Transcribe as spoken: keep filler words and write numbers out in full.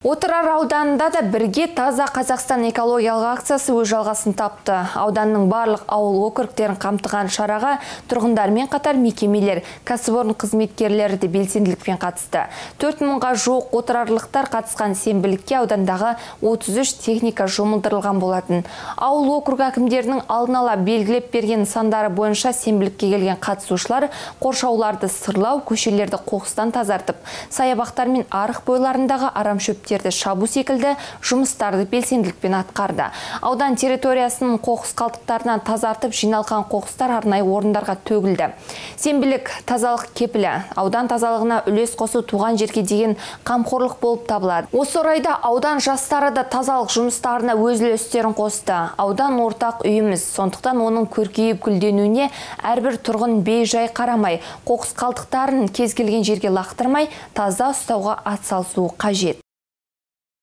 Отырар ауданында да бірге таза Қазақстан экологиялық акциясы өз жалғасын тапты. Ауданның барлық ауыл округтерін қамтыған шараға тұрғындармен қатар мекемелер, кәсіпорын қызметкерлері де белсенділікпен қатысты. төрт мыңға жуық отырарлықтар қатысқан сенбілікке аудандағы отыз үш техника жұмылдырылған болатын. Ауыл округ әкімдерінің алдын ала белгілеп берген сандары бойынша сенбілікке келген қатысушылар қоршауларды сырлау, көшелерді қоқыстан тазартып, саябақтар мен арық бойларындағы арам шөптер шабу секілді жұмыстарды белсенділікпен атқарды. Аудан территориясының қоқыс қалдықтарынан тазартып жиналған қоқыстар арнайы орындарға төгілді. Сенбілік тазалық кепілі, аудан тазалығына үлес қосу туған жерге деген қамқорлық болып табылады. Осы орайда аудан жастары да тазалық жұмыстарына өз үлестерін қосты. Аудан ортақ үйіміз, сондықтан оның көркейіп гүлденуіне әрбір тұрғын бей-жай қарамай, қоқыс қалдықтарын кез келген жерге лақтырмай, таза ұстауға атсалысуы қажет.